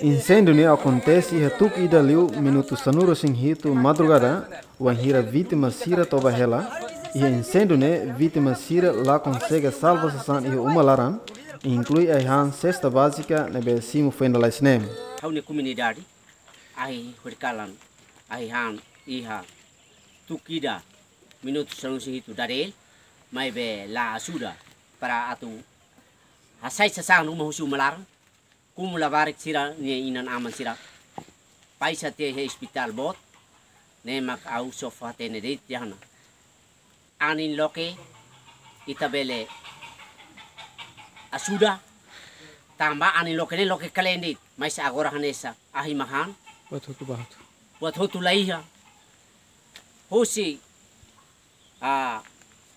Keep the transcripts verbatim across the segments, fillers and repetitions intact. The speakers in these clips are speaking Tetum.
Inséndiu ne'e akontese iha tuku ida liu minutu sanulu-resin-hitu madrugada, wainhira vítima sira toba hela. Iha inséndiu ne'e vítima sira la konsege salva sasán iha uma laran, inklui ai-han sesta bázika ne'ebé simu foin lalais ne'e. Ha'u-nia komunidade, ahi horikalan, ai-han iha tuku ida minutu sanulu-resin-hitu dadel, maibé la ajuda para atu hasai sasán ruma husi uma laran, komu labarik sira-nia inan-aman sira baixa tiha iha ospitál boot, ne'e mak ha'u só fó-hatene de'it tiha ona. Anin loke ita bele ajuda, tanba anin loke ne'e loke kalen de'it, mas agora hanesan ahi mak han. Buat hotu ba hotu. Buat hotu la iha. Husi, ah,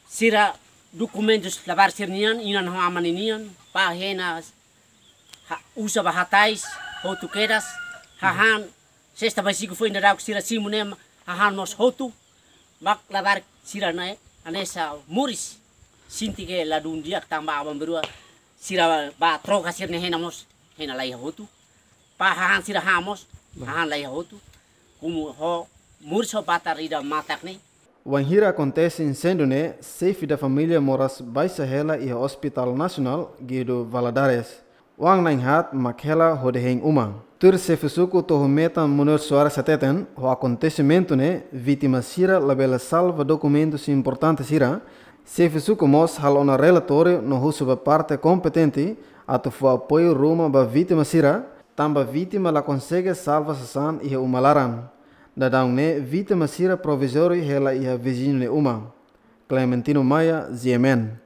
sira dokumentus labarik sira-nian, inan ho aman ninian, pá hena, ha-, uza ba hatais, hotu kedas, hahán, sesta báziku foin daudauk sira simu ne'e, hahán mós hotu, mak labarik sira-ne'e, hanesan moris, sente ke ladún di'ak tanba aban-bainrua, sira bá troka sira-nia hena mós, hena la iha hotu, pá hahán sira han mós, hahán la iha hotu, komu ho moris ho batar ida matak ne'e. Wainhira akontese inséndiu ne'e, xefe da família moras baixa hela iha Hospital Nasionál Guido Valadares. Oan na'in-haat mak hela hodi hein uma. Tuir xefe suku Tohu Metan Munir Soares hateten, ho akontesimentu ne'e, vítima sira labele salva dokumentus importante sira. Xefe suku mós halo ona relatóriu no husu ba parte kompetente atu fó apoiu ruma ba vítima sira, tanba vítima la konsege salva sasán iha uma laran. Daudaun ne'e vítima sira provizóriu hela iha viziñu nia uma. Clementino Maia, G M N.